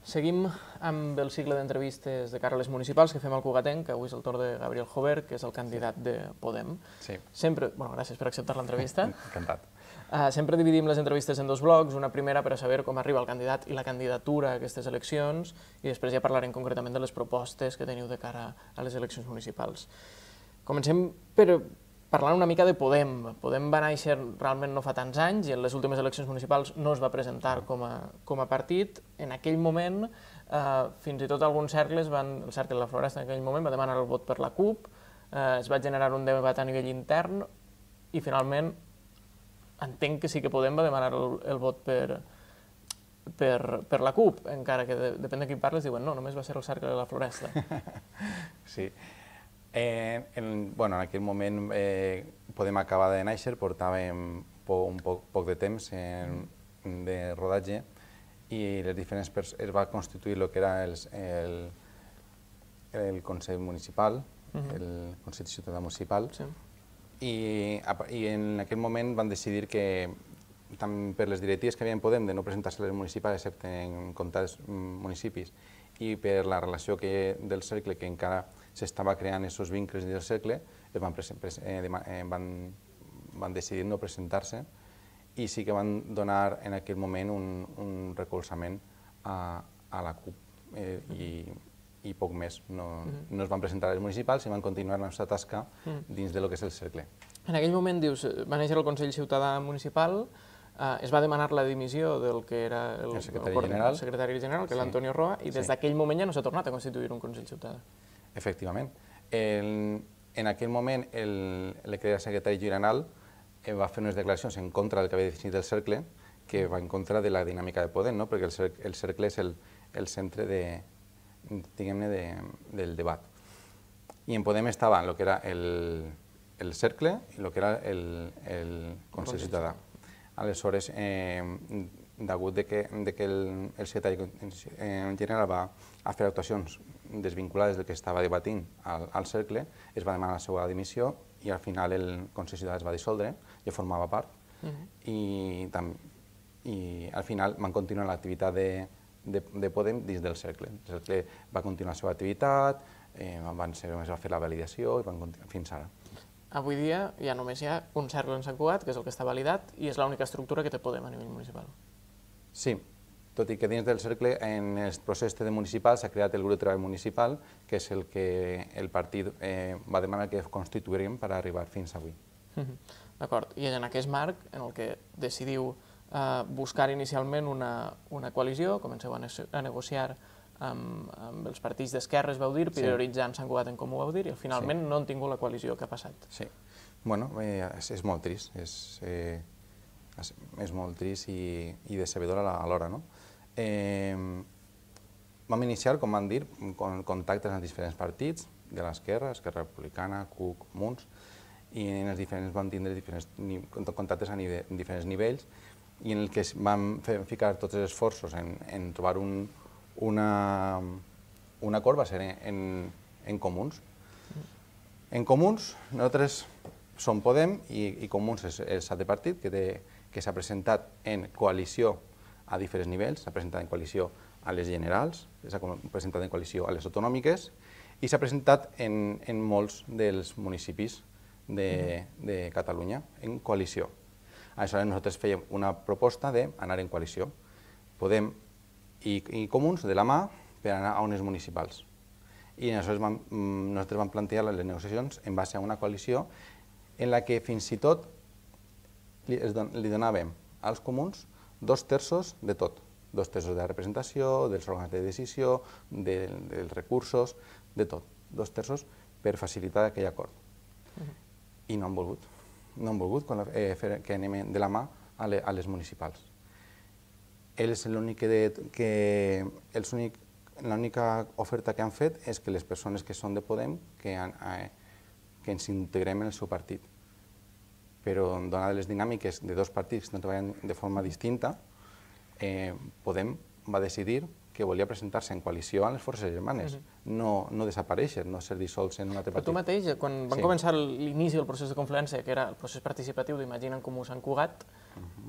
Seguim amb el cicle d'entrevistes de cara a les municipals que fem al Cugatenc, que avui és el torn de Gabriel Jover, que és el candidat de Podem. Sí. Sempre, gràcies per acceptar l'entrevista. Encantat. Sempre dividim les entrevistes en dos blocs, una primera per a saber com arriba el candidat i la candidatura a aquestes eleccions, i després ja parlarem concretament de les propostes que teniu de cara a les eleccions municipals. Comencem per parlant una mica de Podem. Podem va néixer realment no fa tants anys i en les últimes eleccions municipals no es va presentar com a partit. En aquell moment, fins i tot alguns cercles, el cercle de la Floresta en aquell moment va demanar el vot per la CUP, es va generar un debat a nivell intern i finalment entenc que sí que Podem va demanar el vot per la CUP, encara que depèn de qui parles diuen no, només va ser el cercle de la Floresta. Sí. En aquell moment Podem acabar de néixer, portàvem un poc de temps de rodatge i es va constituir el que era el Consell Municipal, el Consell Ciutadà Municipal, i en aquell moment van decidir que tant per les directives que havien Podem de no presentar-se a les municipals excepte en comptats municipis i per la relació del cercle que encara s'estava creant aquests vincles del cercle, van decidir no presentar-se i sí que van donar en aquell moment un recolzament a la CUP i poc més. No es van presentar a les municipals i van continuar la seva tasca dins del que és el cercle. En aquell moment, dius, va néixer el Consell Ciutadà Municipal, es va demanar la dimissió del que era el secretari general, que era l'Antonio Roa, i des d'aquell moment ja no s'ha tornat a constituir un Consell Ciutadà. Efectivament. En aquell moment, el que era secretari general va fer unes declaracions en contra del que havia definit el cercle, que va en contra de la dinàmica de Podem, perquè el cercle és el centre del debat. I en Podem estava el que era el cercle i el que era el Consell Ciutadà. Aleshores, degut que el secretari general va fer actuacions desvinculades del que estava debatint al cercle, es va demanar la seva dimissió i al final el Consell Ciutadà es va dissoldre, ja formava part, i al final van continuar l'activitat de Podem dins del cercle. El cercle va continuar la seva activitat, es va fer la validació i van continuar fins ara. Avui dia ja només hi ha un cercle en Sant Cugat, que és el que està validat, i és l'única estructura que té Podem a nivell municipal. Sí, tot i que dins del cercle, en el procés de municipal, s'ha creat el grup de treball municipal, que és el que el partit va demanar que constituïríem per arribar fins avui. D'acord, i és en aquest marc en el que decidiu buscar inicialment una coalició, comenceu a negociar amb els partits d'esquerres, vau dir, prioritzant Sant Cugat en Comú, vau dir, i finalment no han tingut la coalició. Què ha passat? Sí, bueno, és molt trist, és molt trist i decebedor alhora, no? Vam iniciar, com van dir, contactes amb diferents partits, de l'esquerra, Esquerra Republicana, CUC, Munts, i en els diferents vam tindre contactes a diferents nivells i en el que vam ficar tots els esforços en trobar un acord va ser en Comuns. En Comuns, nosaltres som Podem i Comuns és l'altre partit que s'ha presentat en coalició a diferents nivells, s'ha presentat en coalició a les generals, s'ha presentat en coalició a les autonòmiques i s'ha presentat en molts dels municipis de Catalunya, en coalició. Aleshores nosaltres fèiem una proposta d'anar en coalició. Podem i Comuns de la mà per anar a unes municipals. I aleshores nosaltres vam plantejar les negociacions en base a una coalició en la que fins i tot li donàvem als comuns 2/3 de tot. 2/3 de la representació, dels òrgans de decisió, dels recursos, de tot. 2/3 per facilitar aquell acord. I no han volgut. No han volgut que anem de la mà a les municipals. L'única oferta que han fet és que les persones que són de Podem que ens integrem en el seu partit. Però, donades les dinàmiques de dos partits que treballen de forma distinta, Podem va decidir que volia presentar-se en coalició amb les forces germanes, no desaparèixer, no ser dissolts en un altre partit. Però tu mateix, quan van començar l'inici del procés de confluència, que era el procés participatiu d'Imagina en Comú Sant Cugat,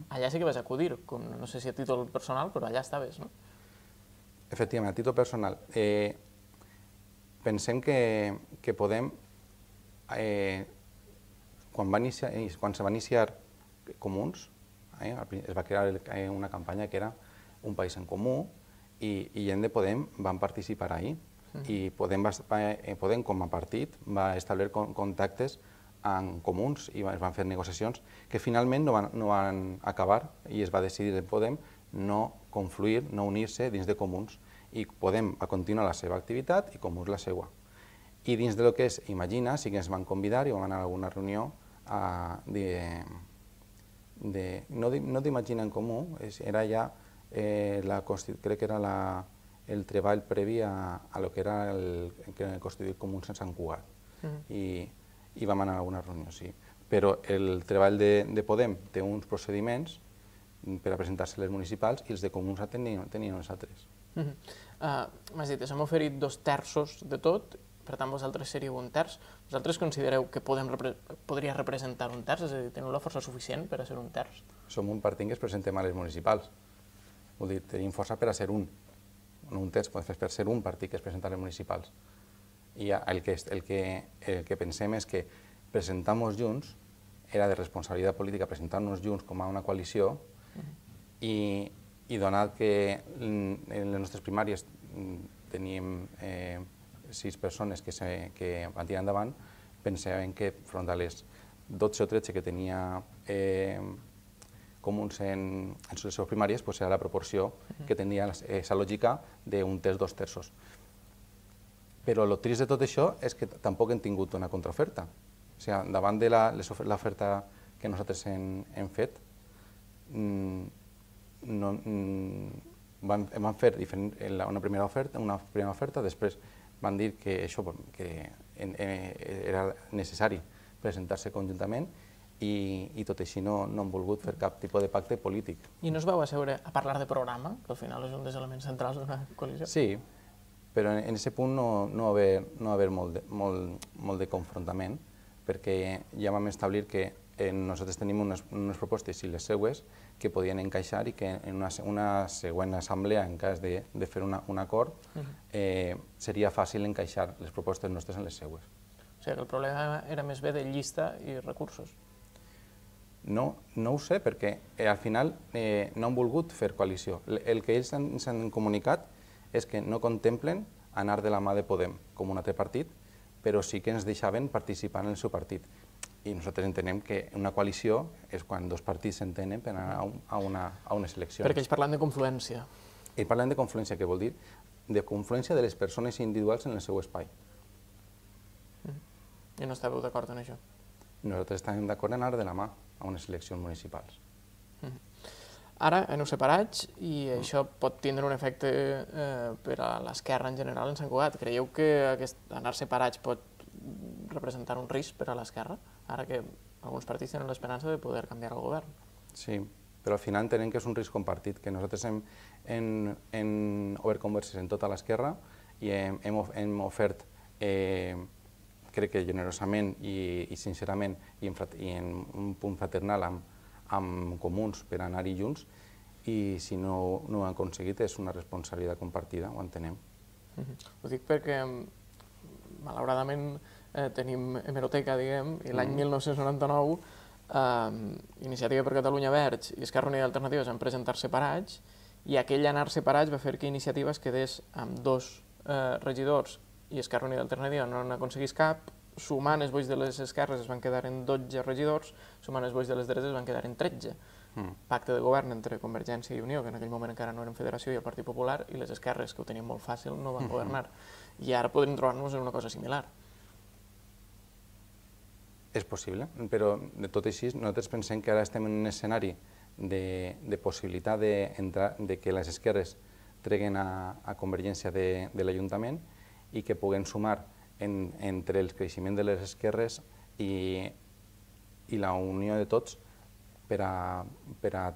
allà sí que vas acudir, no sé si a títol personal, però allà estaves, no? Efectivament, a títol personal, pensem que Podem, quan se va iniciar Comuns, es va crear una campanya que era Un País en Comú i gent de Podem van participar ahí. I Podem, com a partit, va establir contactes amb Comuns i es van fer negociacions que finalment no van acabar i es va decidir en Podem no confluir, no unir-se dins de Comuns i Podem va continuar la seva activitat i Comuns la seva. I dins de lo que és Imagina sí que ens van convidar i vam anar a alguna reunió no d'Imagina en Comú, era ja, crec que era el treball previ a lo que era el constituir Comuns en Sant Cugat. I vam anar a alguna reunió, sí. Però el treball de Podem té uns procediments per a presentar-se a les municipals i els de Comuns tenien els altres. M'has dit, s'han oferit 2/3 de tot, per tant vosaltres seríeu 1/3. Vosaltres considereu que Podem podria representar 1/3, és a dir, teniu la força suficient per a ser 1/3? Som un partit que es presentem a les municipals. Vull dir, tenim força per a ser un. No 1/3, per ser un partit que es presenta a les municipals. I el que pensem és que presentar-nos junts era de responsabilitat política presentar-nos junts com a una coalició i donat que en les nostres primàries teníem 6 persones que van tirar endavant, pensàvem que front a les 12 o 13 que tenia Comuns en les seves primàries, era la proporció que tenia aquesta lògica d'un terç, 2/3. Però el trist de tot això és que tampoc hem tingut una contraoferta. O sigui, davant de l'oferta que nosaltres hem fet, vam fer una primera oferta, després van dir que això era necessari presentar-se conjuntament i tot així no han volgut fer cap tipus de pacte polític. I no us vau asseure a parlar de programa, que al final és un dels elements centrals d'una coalició? Sí, però en aquest punt no va haver molt de confrontament, perquè ja vam establir que nosaltres tenim unes propostes i les seues que podien encaixar i que en una següent assemblea, en cas de fer un acord, seria fàcil encaixar les propostes nostres en les seues. O sigui que el problema era més bé de llista i recursos. No ho sé, perquè al final no han volgut fer coalició. El que ells ens han comunicat és que no contemplen anar de la mà de Podem com un altre partit, però sí que ens deixaven participar en el seu partit. I nosaltres entenem que una coalició és quan dos partits s'entenen per anar a unes eleccions. Perquè ells parlen de confluència. Ells parlen de confluència, que vol dir de confluència de les persones individuals en el seu espai. I no estàveu d'acord en això? Nosaltres estem d'acord en anar de la mà a unes eleccions municipals. Ara aneu separats i això pot tindre un efecte per a l'esquerra en general en Sant Cugat. Creieu que anar separats pot representar un risc per a l'esquerra, ara que alguns partits tenen l'esperança de poder canviar el govern? Sí, però al final entenem que és un risc compartit, que nosaltres hem obert converses en tota l'esquerra i hem ofert, crec que generosament i sincerament i en un punt fraternal amb Comuns per anar-hi junts, i si no ho han aconseguit és una responsabilitat compartida, ho entenem. Ho dic perquè malauradament tenim hemeroteca, diguem, i l'any 1999 Iniciativa per Catalunya Verds i Esquerra Unida i Alternativa van presentar separats i aquell anar separats va fer que Iniciativa es quedés amb 2 regidors i Esquerra Unida i Alternativa no n'aconseguís cap, sumant els vots de les esquerres es van quedar en 12 regidors, sumant els vots de les dretes es van quedar en 13. Pacte de govern entre Convergència i Unió, que en aquell moment encara no eren federació, i el Partit Popular, i les esquerres, que ho tenien molt fàcil, no van governar. I ara podríem trobar-nos en una cosa similar. És possible, però de tot així nosaltres pensem que ara estem en un escenari de possibilitat de que les esquerres treguen a Convergència de l'Ajuntament i que puguem sumar entre el creixement de les esquerres i la unió de tots per a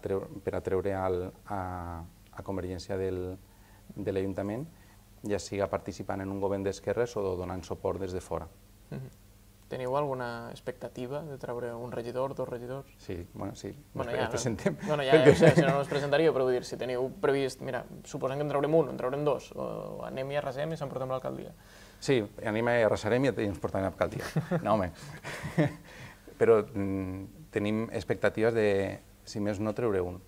treure a Convergència de l'Ajuntament, ja siga participant en un govern d'esquerres o donant suport des de fora. teniu alguna expectativa de treure un regidor, dos regidors? Sí, bueno, sí, Ja, presentem. Bueno, ja ho sé, si no, no es presentaria, però vull dir, si teniu previst, mira, suposem que en traurem un, en traurem dos, o anem i arrasem i s'emportem l'alcaldia. Sí, anem i arrasarem i ens portarem a l'alcaldia. No, home. Però tenim expectatives de, si més no, treure un.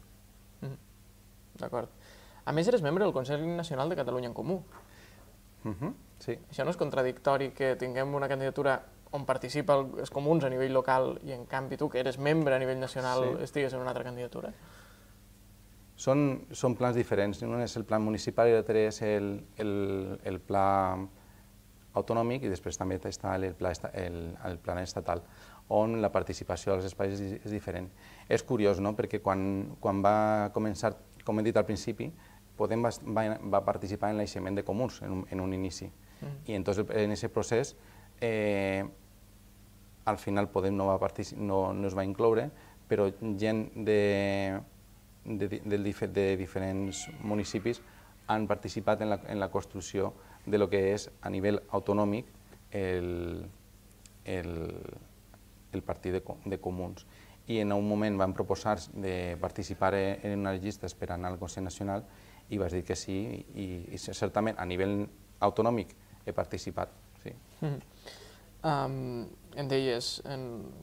D'acord. A més, eres membre del Consell Nacional de Catalunya en Comú. Sí. Això no és contradictori que tinguem una candidatura on participa els comuns a nivell local i en canvi tu, que eres membre a nivell nacional, estigues en una altra candidatura? Són plans diferents. Un és el plan municipal i l'altre és el pla autonòmic i després també està el plan estatal, on la participació als espais és diferent. És curiós, no?, perquè quan va començar, com he dit al principi, Podem va participar en l'aixement de comuns en un inici. I entonces en aquest procés, al final Podem no es va incloure, però gent de diferents municipis han participat en la construcció de lo que és a nivell autonòmic el partit de comuns. I en un moment van proposar de participar en una llista per anar al Consell Nacional i vas dir que sí, i certament a nivell autonòmic he participat. Em deies,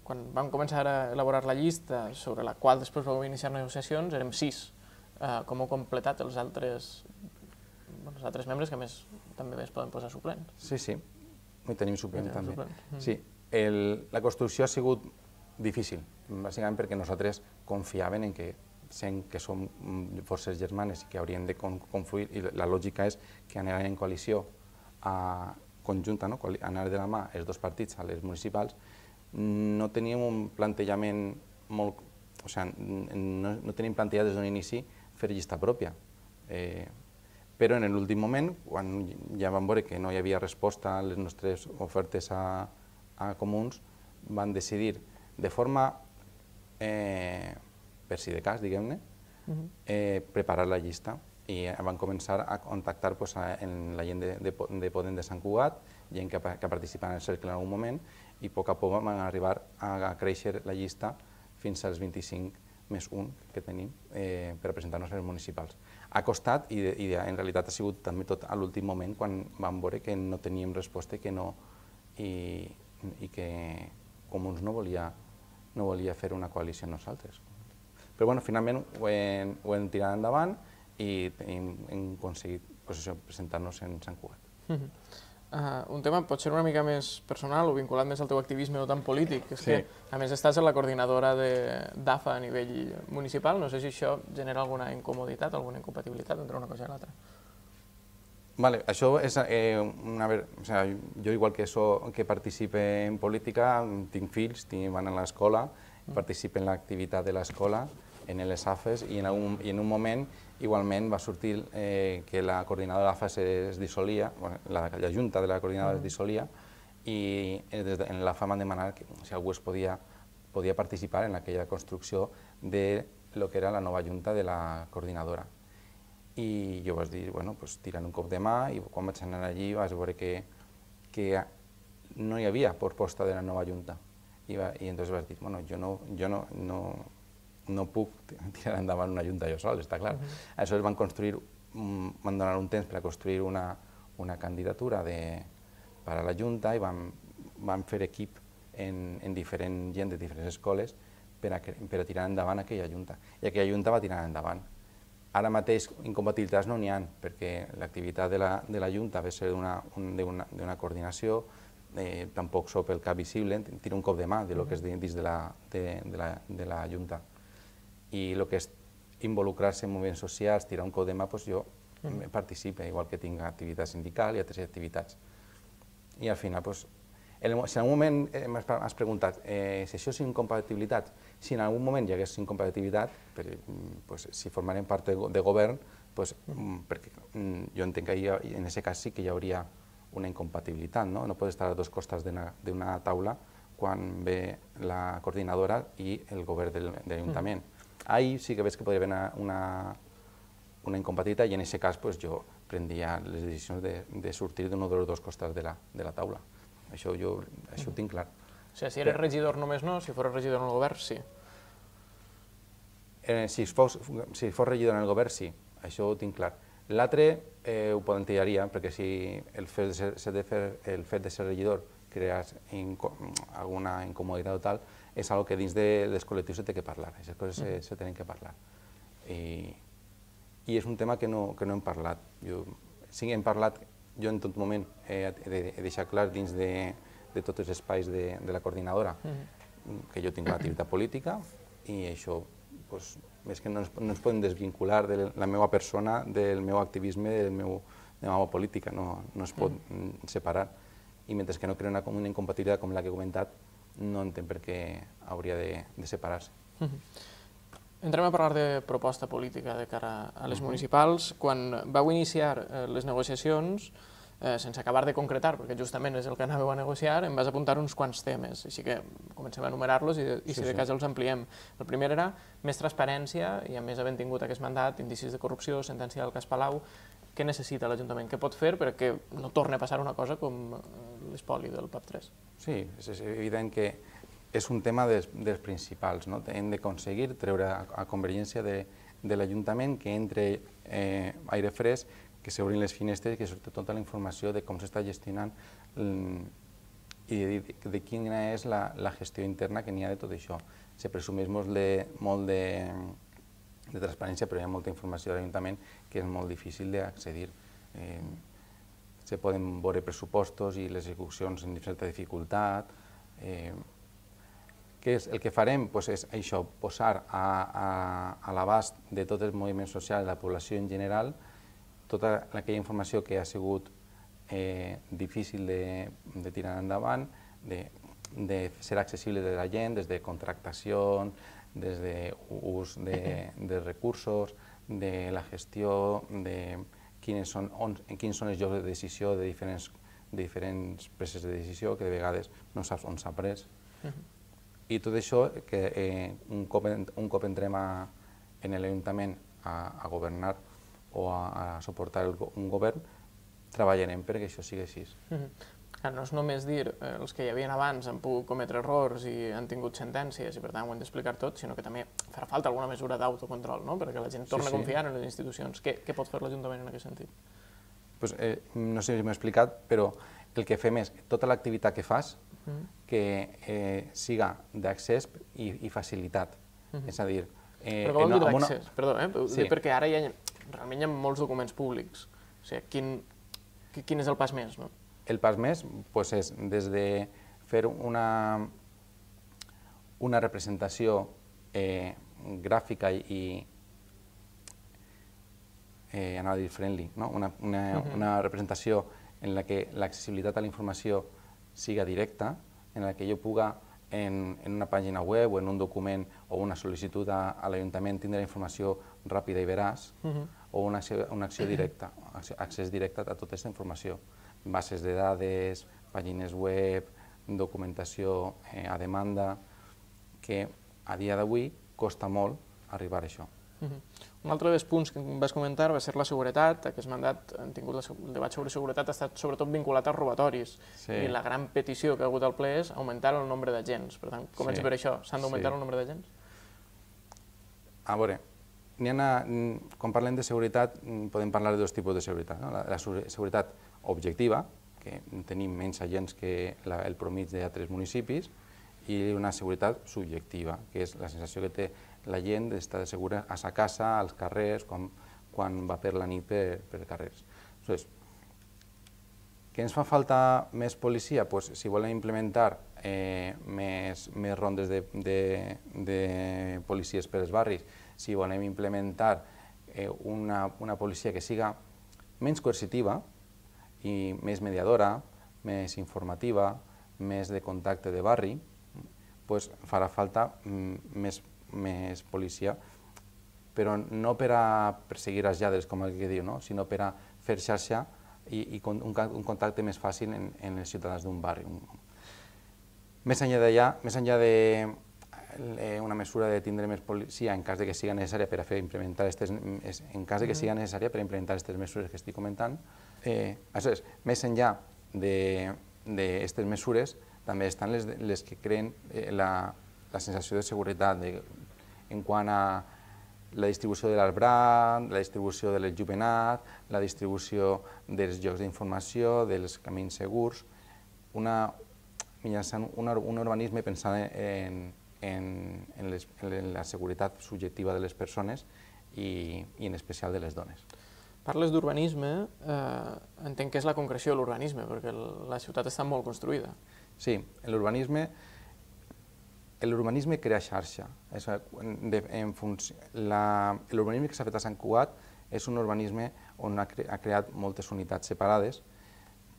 quan vam començar a elaborar la llista sobre la qual després vau iniciar negociacions, érem 6. Com heu completat els altres membres que també es poden posar suplents? Sí, tenim suplent també. Sí, la construcció ha sigut difícil, bàsicament perquè nosaltres confiaven en que sent que som forces germanes i que haurien de confluir, i la lògica és que anaran en coalició conjunta, anar de la mà els dos partits a les municipals, no teníem un plantejament molt... O sigui, no teníem plantejat des d'un inici fer llista pròpia. Però en l'últim moment, quan ja vam veure que no hi havia resposta a les nostres ofertes a comuns, van decidir de forma per si de cas, diguem-ne, preparar la llista i van començar a contactar en la gent de Podem de Sant Cugat, gent que ha participat en el cercle en algun moment, i a poc a poc van arribar a créixer la llista fins als 25 més 1 que tenim per a presentar-nos a les municipals. Ha costat i en realitat ha sigut també tot a l'últim moment quan vam veure que no teníem resposta i que Comuns no volia fer una coalició amb nosaltres. Però finalment ho hem tirat endavant i hem aconseguit presentar-nos en Sant Cugat. Un tema potser una mica més personal o vinculat més al teu activisme no tan polític, és que a més estàs en la coordinadora d'AFA a nivell municipal, no sé si això genera alguna incomoditat, alguna incompatibilitat entre una cosa i l'altra. Això és jo igual que participe en política, tinc fills, van a l'escola, participo en l'activitat de l'escola, en les AFES, i en un moment igualment va sortir que la coordinadora d'AFES es dissolia, la junta de la coordinadora es dissolia, i en l'AFA m'han demanat si algú podia participar en aquella construcció de lo que era la nova junta de la coordinadora. I jo vaig dir, tirant un cop de mà, i quan vaig anar allí vaig veure que no hi havia proposta de la nova junta. I llavors vaig dir, jo no puc tirar endavant una junta jo sol, està clar. Aleshores van donar un temps per a construir una candidatura per a la junta i vam fer equip en diferent gent de diferents escoles per a tirar endavant aquella junta. I aquella junta va tirar endavant. Ara mateix incompatibilitats no n'hi ha, perquè l'activitat de la junta ve ser d'una coordinació, tampoc sóc el cap visible, tiro un cop de mà del que és dins de la junta. I el que és involucrar-se en moviments socials, tirar un cop de mà, jo participo, igual que tinc activitat sindical i altres activitats. I al final, si en algun moment m'has preguntat si això és incompatibilitat, si en algun moment hi hagués incompatibilitat, si formarem part de govern, perquè jo entenc que en aquest cas sí que hi hauria una incompatibilitat, no pots estar a dos costats d'una taula quan ve la coordinadora i el govern de l'Ajuntament. Ahir sí que veig que podria haver una incompatibilitat i en aquest cas jo prendria les decisions de sortir d'un dels dos costats de la taula. Això ho tinc clar. O sigui, si eres regidor només no, si fos regidor en el govern, sí. Si fos regidor en el govern, sí, això ho tinc clar. L'altre ho plantejaria, perquè si el fet de ser regidor creas alguna incomoditat o tal, és algo que dins dels col·lectius se té que parlar, aquestes coses se tenen que parlar. I és un tema que no hem parlat. Sí que hem parlat, jo en tot moment he deixat clar dins de tots els espais de la coordinadora que jo tinc una activitat política i això, més que no ens podem desvincular de la meva persona, del meu activisme, de la meva política, no es pot separar. I mentre que no crea una incompatibilitat com la que he comentat, no entenc per què hauria de separar-se. Entrem a parlar de proposta política de cara a les municipals. Quan vau iniciar les negociacions, sense acabar de concretar, perquè justament és el que anàveu a negociar, em vas apuntar uns quants temes, així que comencem a enumerar-los i si de cas els ampliem. El primer era més transparència i a més havent tingut aquest mandat, indicis de corrupció, sentència del cas Palau. Què necessita l'Ajuntament? Què pot fer perquè no torni a passar una cosa com l'espoli del PAP3? Sí, és evident que és un tema dels principals. Hem d'aconseguir treure a Convergència de l'Ajuntament que entre aire fresc, que s'obrin les finestres i que surti tota la informació de com s'està gestionant i de quina és la gestió interna que n'hi ha de tot això. Se presumeix molt de transparència, però hi ha molta informació de l'Ajuntament que és molt difícil d'accedir. Se poden veure pressupostos i les execucions amb certa dificultat. El que farem és això, posar a l'abast de tots els moviments socials de la població en general tota aquella informació que ha sigut difícil de tirar endavant, de ser accessible de la gent, des de contractació, des d'ús de recursos, de la gestió, de quins són els llocs de decisió de diferents preses de decisió, que de vegades no saps on s'ha pres. I tot això, que un cop entrem en l'Ajuntament a governar o a suportar un govern, treballarem perquè això sigui així. No és només dir els que hi havia abans han pogut cometre errors i han tingut sentències i per tant ho hem d'explicar tot, sinó que també farà falta alguna mesura d'autocontrol, perquè la gent torna a confiar en les institucions. Què pot fer l'Ajuntament en aquest sentit? No sé si m'he explicat, però el que fem és tota l'activitat que fas que siga d'accés i facilitat. És a dir... Però què vol dir d'accés? Perdó, perquè ara realment hi ha molts documents públics. O sigui, quin és el pas més? El pas més és des de fer una representació gràfica i anava a dir friendly, una representació en la que l'accessibilitat a la informació siga directa, en la que jo puga en una pàgina web o en un document o una sol·licitud a l'Ajuntament tindre informació ràpida i veraç o una acció directa, accés directe a tota aquesta informació. Bases de dades, pàgines web, documentació a demanda, que a dia d'avui costa molt arribar a això. Un altre dels punts que em vas comentar va ser la seguretat. Aquest mandat, han tingut el debat sobre seguretat, ha estat sobretot vinculat als robatoris. I la gran petició que ha hagut al ple és augmentar el nombre d'agents. Per tant, comença per això. S'han d'augmentar el nombre d'agents? A veure, quan parlem de seguretat podem parlar de dos tipus de seguretat. La seguretat objectiva, que tenim menys agents que el promís d'altres municipis, i una seguretat subjectiva, que és la sensació que té la gent d'estar segura a sa casa, als carrers, quan va per la nit per carrers. Què ens fa falta més policia? Si volem implementar més rondes de policies per als barris, si volem implementar una policia que siga menys coercitiva i més mediadora, més informativa, més de contacte de barri, farà falta més policia, però no per a perseguir els lladres, com el que diu, sinó per a fer xarxa i un contacte més fàcil en els ciutadans d'un barri. Més enllà d'una mesura de tindre més policia en cas que siga necessària per implementar aquestes mesures que estic comentant, més enllà d'aquestes mesures, també estan les que creen la sensació de seguretat en quant a la distribució de l'arbrat, la distribució de l'enjovenat, la distribució dels llocs d'informació, dels camins segurs, mitjançant un urbanisme pensant en la seguretat subjectiva de les persones i en especial de les dones. Parles d'urbanisme, entenc que és la concreció de l'urbanisme, perquè la ciutat està molt construïda. Sí, l'urbanisme crea xarxa. L'urbanisme que s'ha fet a Sant Cugat és un urbanisme on ha creat moltes unitats separades,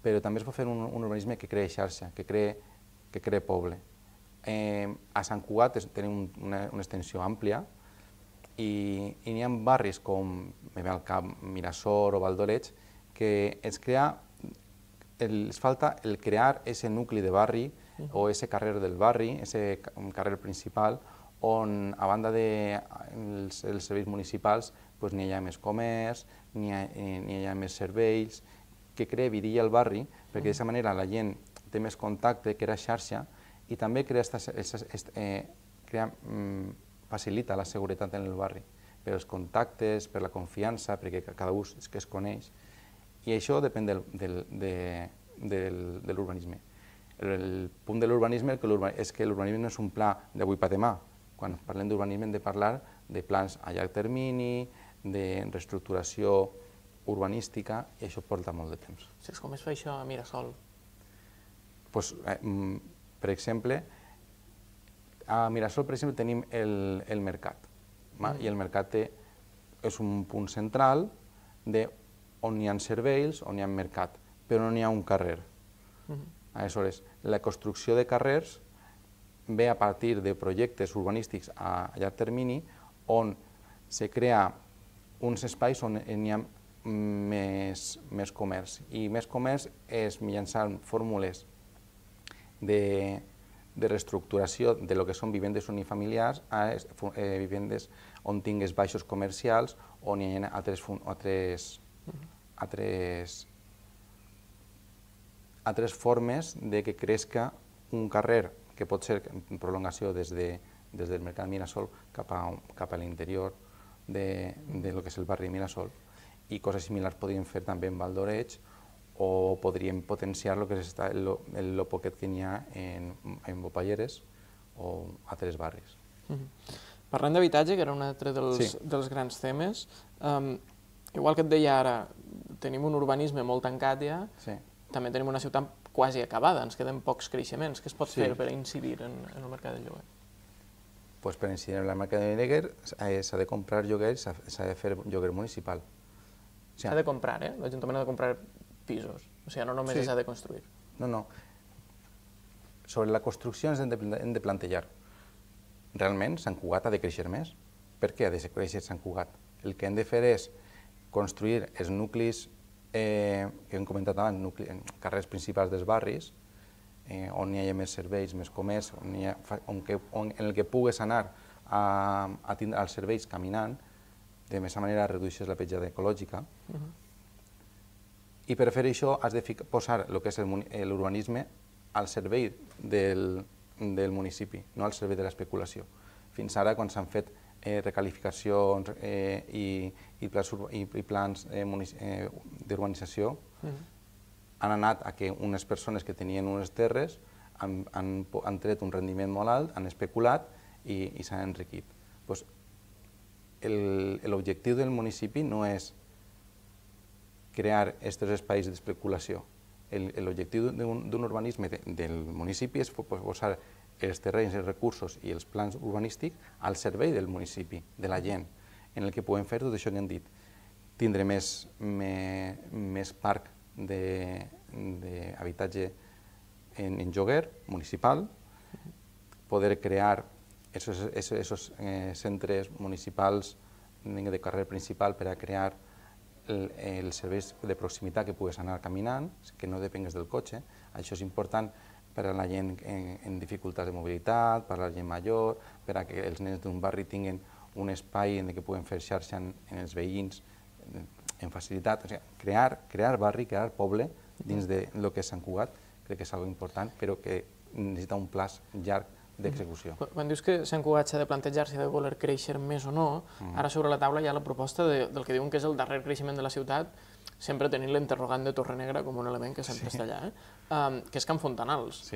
però també es pot fer un urbanisme que crea xarxa, que crea poble. A Sant Cugat tenim una extensió àmplia i n'hi ha barris com me ve al cap Mirasol o Valdoreig que els falta el crear aquest nucli de barri o aquest carrer del barri, aquest carrer principal, on a banda dels serveis municipals n'hi ha més comerç, n'hi ha més serveis, que crea vidilla al barri, perquè d'aquesta manera la gent té més contacte, crea xarxa, i també facilita la seguretat en el barri, per els contactes, per la confiança, perquè cada un és que es coneix, i això depèn de l'urbanisme. El punt de l'urbanisme és que l'urbanisme no és un pla d'avui per demà. Quan parlem d'urbanisme hem de parlar de plans a llarg termini, de reestructuració urbanística, i això porta molt de temps. Saps com es fa això a Mirasol? Per exemple, a Mirasol tenim el mercat, i el mercat és un punt central on hi ha serveis, on hi ha mercat, però no hi ha un carrer. Aleshores, la construcció de carrers ve a partir de projectes urbanístics a llarg termini on se crea uns espais on hi ha més comerç. I més comerç és mitjançant fórmules de reestructuració de lo que són vivendes unifamiliars a vivendes on tingues baixos comercials, on hi ha altres formes de que crezca un carrer que pot ser en prolongació des del Mercat Mirasol cap a l'interior de lo que és el barri Mirasol, i coses similars podríem fer també en Valdoreig, o podríem potenciar el que és el poquet que n'hi ha en Bopalleres o altres barris. Parlant d'habitatge, que era un altre dels grans temes, igual que et deia ara, tenim un urbanisme molt tancat ja, també tenim una ciutat quasi acabada, ens queden pocs creixements. Què es pot fer per incidir en el mercat del lloguer? Per incidir en el mercat del lloguer s'ha de comprar lloguer, s'ha de fer lloguer municipal. S'ha de comprar, l'Ajuntament ha de comprar pisos, o sigui, no només s'ha de construir. No. Sobre la construcció ens hem de plantejar, realment Sant Cugat ha de créixer més? Per què ha de créixer Sant Cugat? El que hem de fer és construir els nuclis que hem comentat abans, carrers principals dels barris, on hi hagi més serveis, més comerç, en el que pugues anar a tindre els serveis caminant, de més manera redueixes la petjada ecològica. I per fer això has de posar el que és l'urbanisme al servei del municipi, no al servei de l'especulació. Fins ara, quan s'han fet recalificacions i plans d'urbanització, han anat a que unes persones que tenien unes terres han tret un rendiment molt alt, han especulat i s'han enriquit. L'objectiu del municipi no és crear aquests espais d'especulació. L'objectiu d'un urbanisme del municipi és posar els terrenys, els recursos i els plans urbanístics al servei del municipi, de la gent, en el que podem fer tot això que hem dit. Tindre més parc d'habitatge en lloguer municipal, poder crear aquests centres municipals de carrer principal per a crear els serveis de proximitat que pugues anar caminant, que no depengues del cotxe. Això és important per a la gent en dificultats de mobilitat, per a la gent major, per a que els nens d'un barri tinguin un espai en què puguen fer xarxa en els veïns en facilitat. Crear barri, crear poble dins del que és Sant Cugat, crec que és una cosa important, però que necessita un pla llarg d'execució. Quan dius que Sant Cugat s'ha de plantejar si ha de voler créixer més o no, ara sobre la taula hi ha la proposta del que diuen que és el darrer creixement de la ciutat, sempre tenint l'interrogant de Torrenegra com un element que sempre està allà, que és Can Fontanals.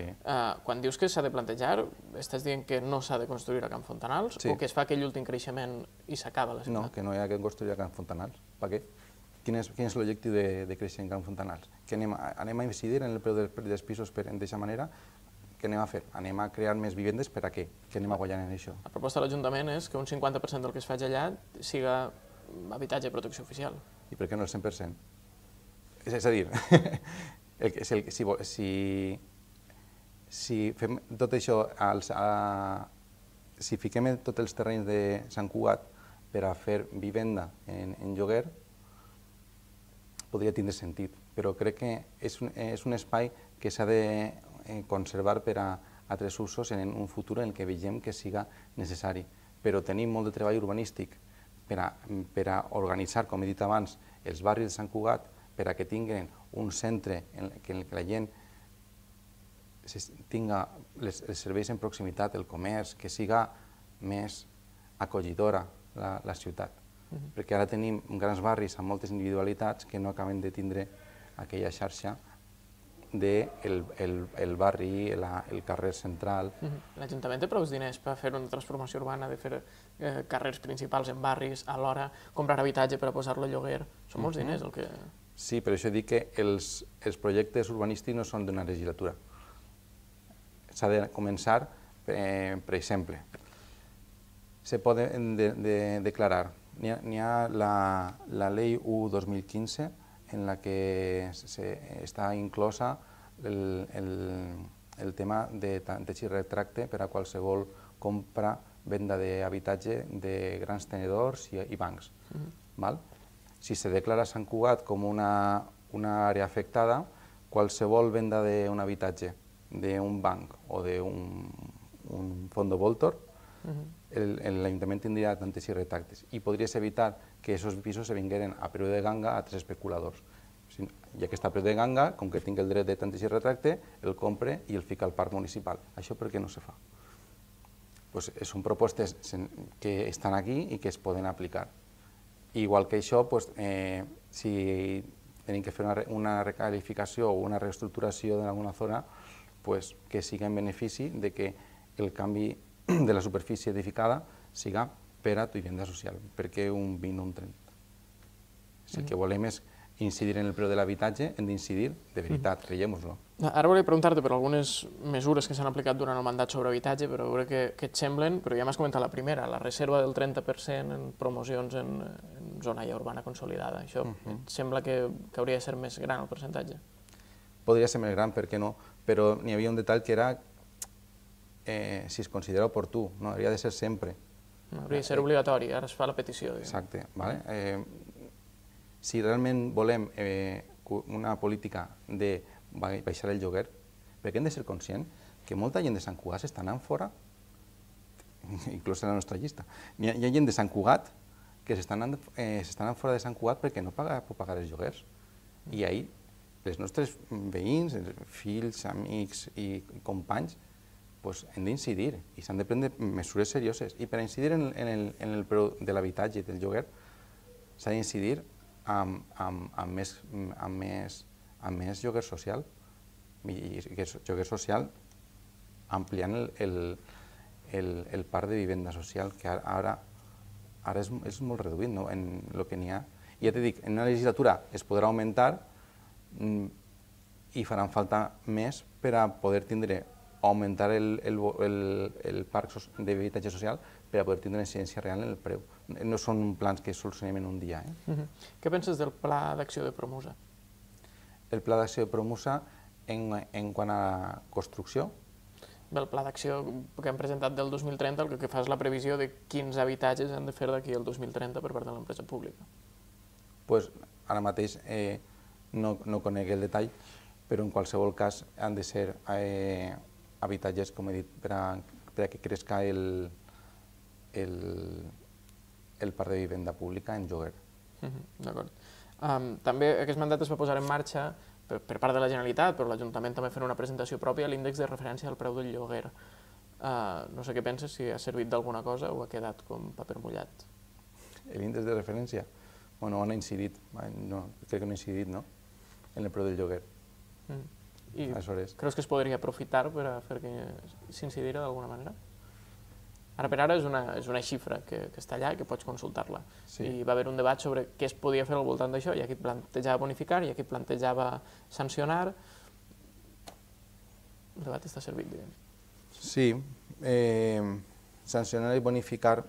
Quan dius que s'ha de plantejar, estàs dient que no s'ha de construir a Can Fontanals o que es fa aquell últim creixement i s'acaba la ciutat? No, que no hi ha que construir a Can Fontanals. Per què? Quin és l'objectiu de créixer en Can Fontanals? Que anem a incidir en el preu dels pisos d'aquesta manera? Què anem a fer? Anem a crear més vivendes per a què? Què anem a guanyar en això? La proposta de l'Ajuntament és que un 50% del que es faci allà siga habitatge de protecció oficial. I per què no el 100%? És a dir, si fem tot això, si fiquem tots els terrenys de Sant Cugat per a fer vivenda en lloguer, podria tindre sentit, però crec que és un espai que s'ha de conservar per a altres usos en un futur en què veiem que siga necessari. Però tenim molt de treball urbanístic per a organitzar, com he dit abans, els barris de Sant Cugat, per a que tinguin un centre en què la gent tinga els serveis en proximitat, el comerç, que siga més acollidora la ciutat. Perquè ara tenim grans barris amb moltes individualitats que no acaben de tindre aquella xarxa del barri, el carrer central. L'Ajuntament té prou diners per fer una transformació urbana, de fer carrers principals en barris, alhora comprar habitatge per a posar-lo a lloguer. Són molts diners el que... Sí, per això dic que els projectes urbanístics no són d'una legislatura. S'ha de començar, per exemple, se poden declarar. N'hi ha la Llei 1/2015, en la que està inclosa el tema de tanteig i retracte per a qualsevol compra, venda d'habitatge de grans tenedors i bancs. Si se declara Sant Cugat com una àrea afectada, qualsevol venda d'un habitatge d'un banc o d'un fons voltor, l'Ajuntament tindria tanteig i retractes i podries evitar que aquests pisos se vingueren a preu de ganga a altres especuladors. Ja que està a preu de ganga, com que tinc el dret de tanteig i retracte, el compre i el fica al parc municipal. Això per què no se fa? Són propostes que estan aquí i que es poden aplicar. Igual que això, si tenim que fer una recalificació o una reestructuració d'alguna zona, que sigui en benefici de que el canvi de la superfície edificada siga per a vivenda social, perquè un 20 o un 30. Si el que volem és incidir en el preu de l'habitatge, hem d'incidir de veritat, creiem-nos-ho. Ara volia preguntar-te per algunes mesures que s'han aplicat durant el mandat sobre habitatge, però a veure què et semblen, però ja m'has comentat la primera, la reserva del 30% en promocions en zona ja urbana consolidada. Això et sembla que hauria de ser més gran el percentatge? Podria ser més gran, per què no? Però n'hi havia un detall que era si es considera oportú, no? Hauria de ser sempre. Hauria de ser obligatori, ara es fa la petició. Exacte. Si realment volem una política de baixar el lloguer, perquè hem de ser conscients que molta gent de Sant Cugat s'està anant fora, inclús en la nostra llista. Hi ha gent de Sant Cugat que s'està anant fora de Sant Cugat perquè no pot pagar els lloguers. I ahir els nostres veïns, fills, amics i companys, hem d'incidir i s'han de prendre mesures serioses. I per incidir en el preu de l'habitatge i del lloguer s'ha d'incidir amb més lloguer social. I lloguer social ampliant el parc de vivenda social, que ara és molt reduït en el que n'hi ha. I ja t'he dit, en una legislatura es podrà augmentar i faran falta més per a poder tindre augmentar el parc d'habitatge social per a poder tindre una incidència real en el preu. No són plans que solucionem en un dia. Què penses del pla d'acció de Promusa? El pla d'acció de Promusa en quant a construcció? El pla d'acció que hem presentat del 2030 el que fa és la previsió de quins habitatges han de fer d'aquí al 2030 per part de l'empresa pública. Ara mateix no conec el detall, però en qualsevol cas han de ser habitatges, com he dit, per a que crezca el parc de vivenda pública en lloguer. D'acord. També aquest mandat es va posar en marxa per part de la Generalitat, però l'Ajuntament també fent una presentació pròpia, l'índex de referència al preu del lloguer. No sé què penses, si ha servit d'alguna cosa o ha quedat com paper mullat. L'índex de referència? Bueno, on ha incidit? No, crec que no ha incidit, no? En el preu del lloguer. I creus que es podria aprofitar per a fer que s'incidira d'alguna manera? Ara per ara és una xifra que està allà i que pots consultar-la. I va haver un debat sobre què es podia fer al voltant d'això, hi ha qui plantejava bonificar, hi ha qui plantejava sancionar. El debat està servit, diguem. Sí, sancionar i bonificar,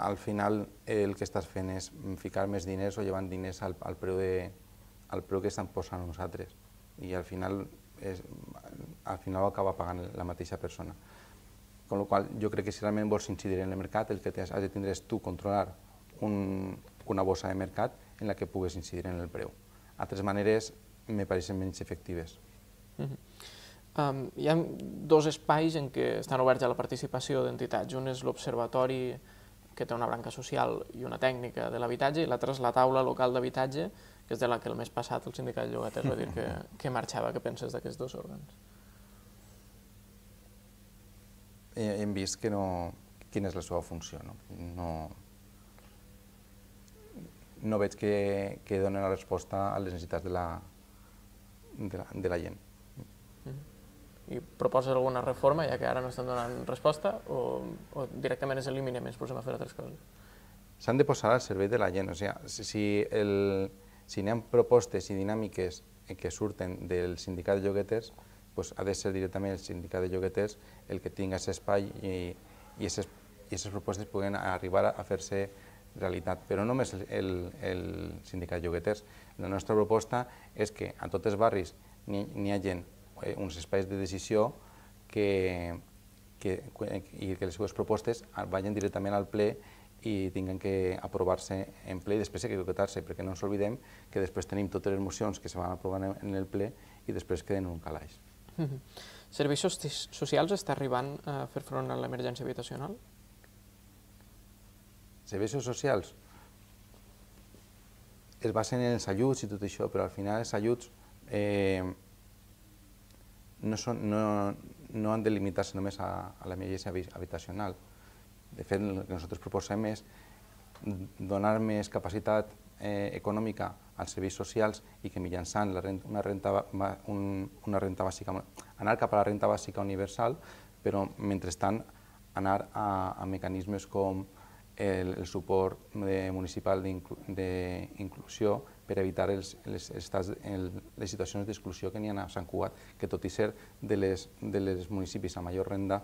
al final el que estàs fent és ficar més diners o llevant diners al preu que estan posant nosaltres. I al final ho acaba pagant la mateixa persona. Con la qual jo crec que si realment vols incidir en el mercat, el que has de tindre és tu controlar una bossa de mercat en la que pugues incidir en el preu. Altres maneres me pareixen menys efectives. Hi ha dos espais en què estan oberts a la participació d'entitats. Un és l'Observatori, que té una branca social i una tècnica de l'habitatge, i l'altra és la taula local d'habitatge, que és de la que el mes passat el sindicat de llogaters va dir que marxava. Què penses d'aquests dos òrgans? Hem vist quina és la seva funció. No veig que donen la resposta a les necessitats de la gent. I proposes alguna reforma, ja que ara no estan donant resposta, o directament es eliminem i ens posem a fer altres coses? S'han de posar al servei de la gent. Si hi ha propostes i dinàmiques que surten del sindicat de llogueters, ha de ser directament el sindicat de llogueters el que tingui aquest espai i aquestes propostes puguen arribar a fer-se realitat. Però no només el sindicat de llogueters. La nostra proposta és que a tots els barris n'hi hagi uns espais de decisió i que les seves propostes vagin directament al ple i tinguin que aprovar-se en ple i després que votar-se, perquè no ens oblidem que després tenim totes les mocions que se van aprovar en el ple i després queden en un calaix. Serveis socials està arribant a fer front a l'emergència habitacional? Serveis socials es basen en els ajuts i tot això, però al final els ajuts no han de limitar-se només a l'emergència habitacional. De fet, el que nosaltres proposem és donar més capacitat econòmica als serveis socials i que mitjançant una renta bàsica, anar cap a la renta bàsica universal, però mentrestant anar a mecanismes com el suport municipal d'inclusió per evitar les situacions d'exclusió que n'hi ha a Sant Cugat, que tot i ser de les municipis amb major renda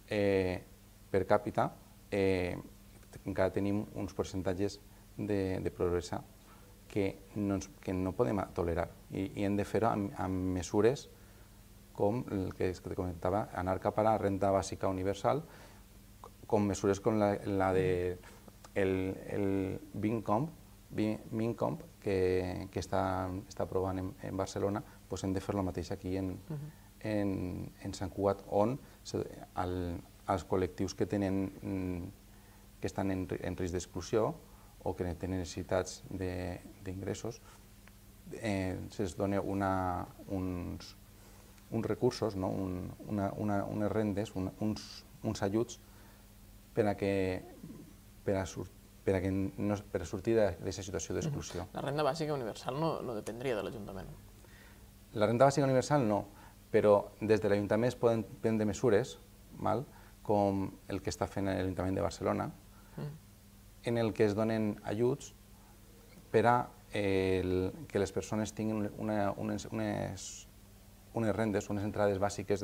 per càpita, encara tenim uns percentatges de pobresa que no podem tolerar i hem de fer-ho amb mesures com el que te comentava, anar cap a la renta bàsica universal, com mesures com la del Mincomp que està aprovant en Barcelona, hem de fer el mateix aquí en Sant Cugat, on els col·lectius que estan en risc d'exclusió o que tenen necessitats d'ingressos se'ls dona uns recursos, unes rendes, uns ajuts per a sortir d'aquesta situació d'exclusió. La renda bàsica universal no dependria de l'Ajuntament? La renda bàsica universal no, però des de l'Ajuntament es poden prendre mesures, com el que està fent l'Ajuntament de Barcelona, en el que es donen ajuts per a que les persones tinguin unes rendes, unes entrades bàsiques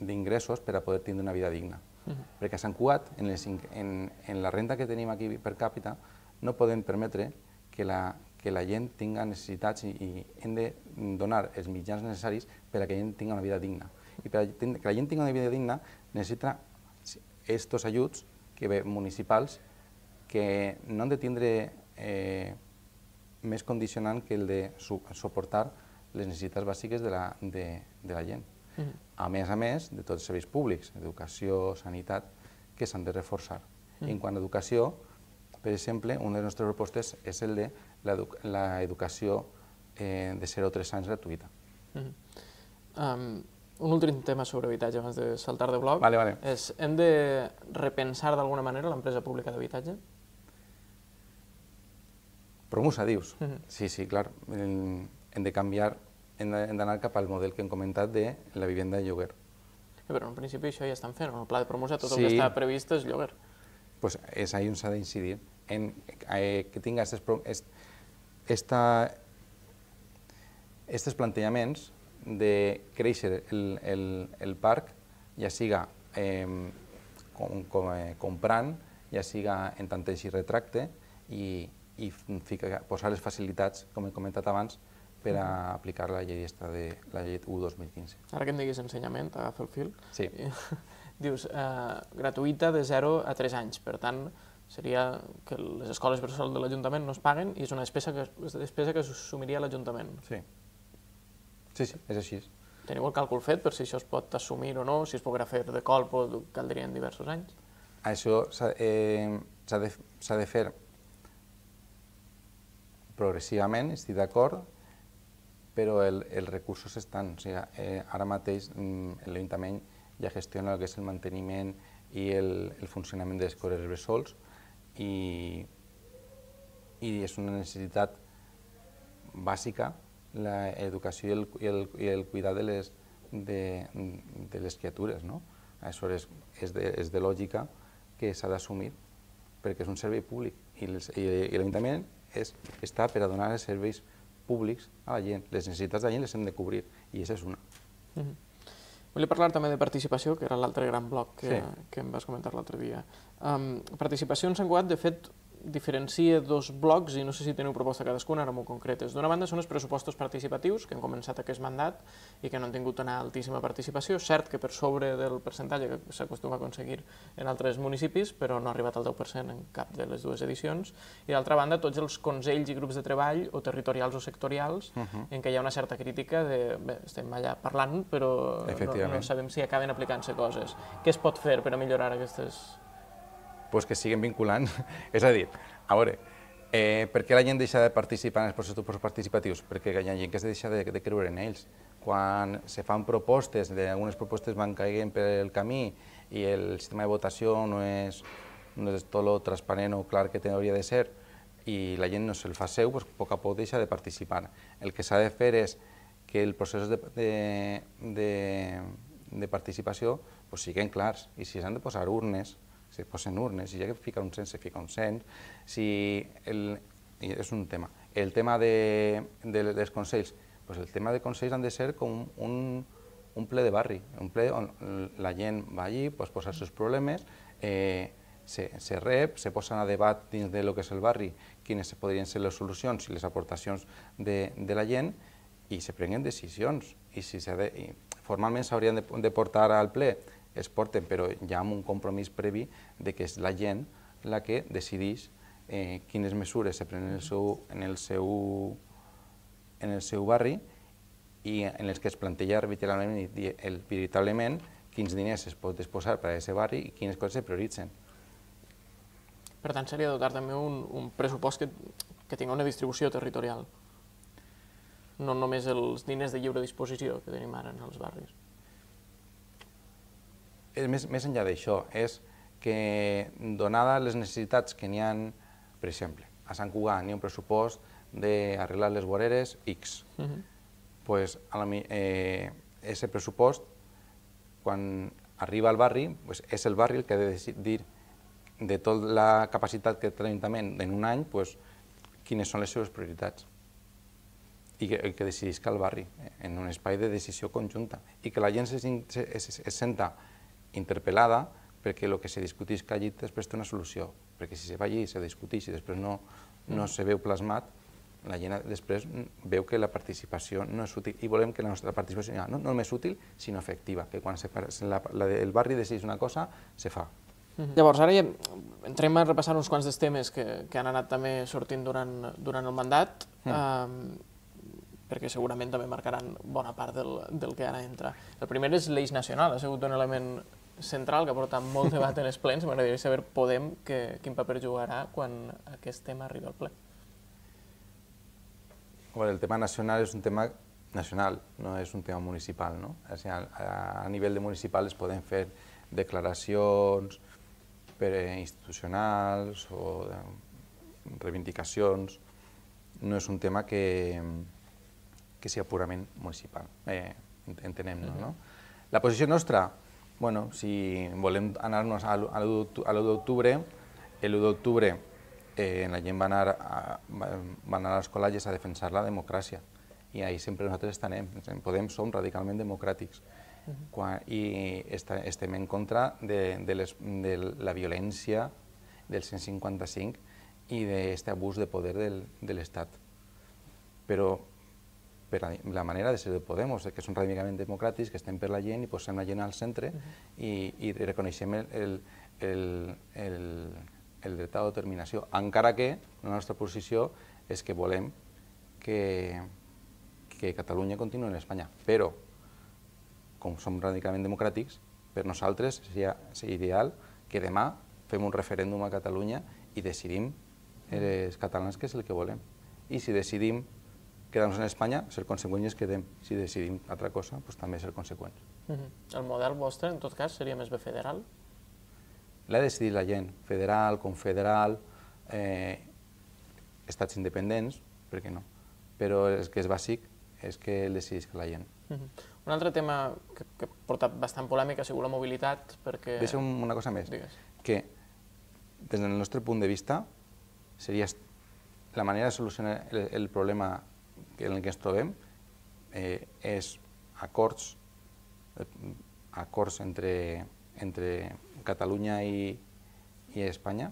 d'ingressos per a poder tindre una vida digna. Perquè a Sant Cugat, en la renda que tenim aquí per càpita, no podem permetre que la gent tingui necessitats i hem de donar els mitjans necessaris per a que la gent tingui una vida digna. I per a que la gent tingui una vida digna necessita aquests ajuts municipals que no han de tindre més condicionant que el de suportar les necessitats bàsiques de la gent. A més de tots els serveis públics, educació, sanitat, que s'han de reforçar. En quant a educació, per exemple, una de les nostres propostes és el de l'educació de 0 a 3 anys gratuïta. Un últim tema sobre habitatge abans de saltar de bloc és, hem de repensar d'alguna manera l'empresa pública d'habitatge? Promusa, dius? Sí, clar. Hem de canviar, hem d'anar cap al model que hem comentat de la vivenda de lloguer. Però en principi això ja estan fent, en el pla de Promusa tot el que està previst és lloguer. Doncs és ahí on s'ha d'incidir, que tinga aquests plantejaments de créixer el parc, ja siga comprant, ja siga en tanteig i retracte, i posar les facilitats, com he comentat abans, per a aplicar la llei 1/2015. Ara que em diguis ensenyament, agafa el fil. Sí. Dius, gratuïta de 0 a 3 anys, per tant, seria que les escoles bressol de l'Ajuntament no es paguen i és una despesa que s'assumiria l'Ajuntament. Sí, és així. Teniu el càlcul fet per si això es pot assumir o no, si es podrà fer de colp o caldrien diversos anys? Això s'ha de fer progressivament, estic d'acord, però els recursos estan. Ara mateix l'Ajuntament ja gestiona el que és el manteniment i el funcionament de les escoles bressols i és una necessitat bàsica l'educació i el cuidar de les criatures. Aleshores, és de lògica que s'ha d'assumir perquè és un servei públic i l'Ajuntament està per a donar els serveis públics a la gent. Les necessitats de la gent les hem de cobrir i aquesta és una. Volia parlar també de participació, que era l'altre gran bloc que em vas comentar l'altre dia. Participació en Sant Cugat, de fet, diferencia dos blocs i no sé si teniu proposta cadascuna, ara molt concretes. D'una banda són els pressupostos participatius, que han començat aquest mandat i que no han tingut una altíssima participació. Cert que per sobre del percentatge que s'acostuma a aconseguir en altres municipis, però no ha arribat al 10% en cap de les dues edicions. I d'altra banda, tots els consells i grups de treball, o territorials o sectorials, en què hi ha una certa crítica de, bé, estem allà parlant, però no sabem si acaben aplicant-se coses. Què es pot fer per a millorar aquestes... Pues que siguen vinculant. És a dir, a veure, per què la gent deixa de participar en els processos participatius? Perquè hi ha gent que es deixa de creure en ells. Quan se fan propostes, algunes propostes van caient pel camí i el sistema de votació no és tot lo transparent o clar que hauria de ser i la gent no se'l fa seu, doncs a poc a poc deixa de participar. El que s'ha de fer és que els processos de participació siguin clars i si s'han de posar urnes, si es posen urnes, si hi ha que ficar un cens, se fica un cens, és un tema. El tema dels consells, el tema de consells han de ser com un ple de barri, un ple on la gent va allí, posa els seus problemes, se rep, se posen a debat dins del que és el barri quines podrien ser les solucions i les aportacions de la gent i se prenguen decisions. Formalment s'haurien de portar al ple, es porten, però ja amb un compromís previ de que és la gent la que decideix quines mesures se prenen en el seu barri i en els que es planteja veritablement quins diners es pot disposar per a aquest barri i quines coses se prioritzen. Per tant, seria dotar també un pressupost que tingui una distribució territorial, no només els diners de lliure disposició que tenim ara en els barris. Més enllà d'això, és que, donades les necessitats que n'hi ha, per exemple, a Sant Cugat n'hi ha un pressupost d'arreglar les voreres X. Doncs aquest pressupost, quan arriba al barri, és el barri el que ha de decidir de tota la capacitat que té l'Ajuntament en un any, quines són les seves prioritats. I que decidisca el barri en un espai de decisió conjunta i que la gent se senta interpel·lada perquè el que se discuteix allí després té una solució, perquè si se va allí i se discuteix i després no se veu plasmat, la gent després veu que la participació no és útil i volem que la nostra participació no només útil, sinó efectiva, que quan el barri decideix una cosa, se fa. Llavors, ara ja entrem a repassar uns quants dels temes que han anat també sortint durant el mandat, perquè segurament també marcaran bona part del que ara entra. El primer és l'eix nacional, ha sigut un element central que ha portat molt debat en els plens. M'agradaria saber Podem quin paper jugarà quan aquest tema arriba al ple. El tema nacional és un tema nacional, no és un tema municipal, no? O sigui, a nivell de municipal es poden fer declaracions institucionals o reivindicacions. No és un tema que sigui purament municipal, entenem-nos, no? La posició nostra, bueno, si volem anar-nos a l'1 d'octubre, l'1 d'octubre la gent va anar a les col·leges a defensar la democràcia i ahir sempre nosaltres estarem. Podem som radicalment democràtics i estem en contra de la violència del 155 i d'aquest abús de poder de l'Estat. Però la manera de ser de Podemos, que som radicalment democràtics, que estem per la gent i posem la gent al centre i reconeixem el dret a l'autodeterminació, encara que la nostra posició és que volem que Catalunya continuï en Espanya. Però, com som radicalment democràtics, per nosaltres seria ideal que demà fem un referèndum a Catalunya i decidim els catalans què és el que volem. I si decidim quedar-nos en Espanya, ser conseqüents i ens quedem. Si decidim altra cosa, doncs també ser conseqüents. El model vostre, en tot cas, seria més bé federal? L'ha decidit la gent, federal, confederal, estats independents, per què no? Però el que és bàsic és que el decidisca la gent. Un altre tema que ha portat bastant polèmica ha sigut la mobilitat, perquè... Deixa'm una cosa més, que des del nostre punt de vista seria la manera de solucionar el problema en el que ens trobem és acords entre Catalunya i Espanya,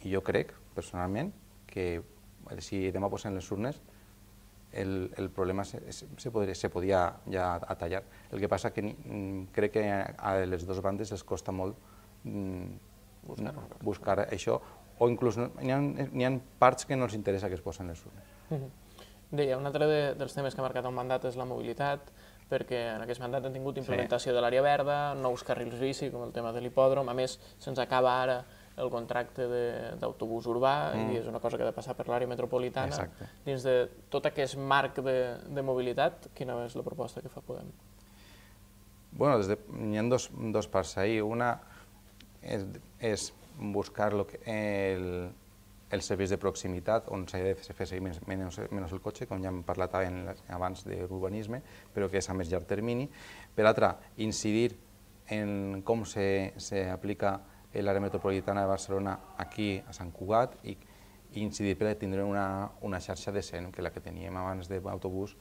i jo crec, personalment, que si demà posem les urnes el problema se podia ja atallar. El que passa que crec que a les dues bandes els costa molt buscar això, o inclús n'hi ha parts que no els interessa que es posen les urnes. Deia, un altre dels temes que ha marcat el mandat és la mobilitat, perquè en aquest mandat han tingut implementació de l'àrea verda, nous carrils bici, com el tema de l'hipòdrom. A més, se'ns acaba ara el contracte d'autobús urbà i és una cosa que ha de passar per l'àrea metropolitana. Dins de tot aquest marc de mobilitat, quina és la proposta que fa Podem? Bé, n'hi ha dos parts ahí. Una és buscar els serveis de proximitat on s'ha de fer servir menys el cotxe, com ja hem parlat abans d'urbanisme, però que és a més llarg termini. Per l'altra, incidir en com s'aplica l'àrea metropolitana de Barcelona aquí a Sant Cugat i incidir per tindre una xarxa decent, que la que teníem abans d'autobús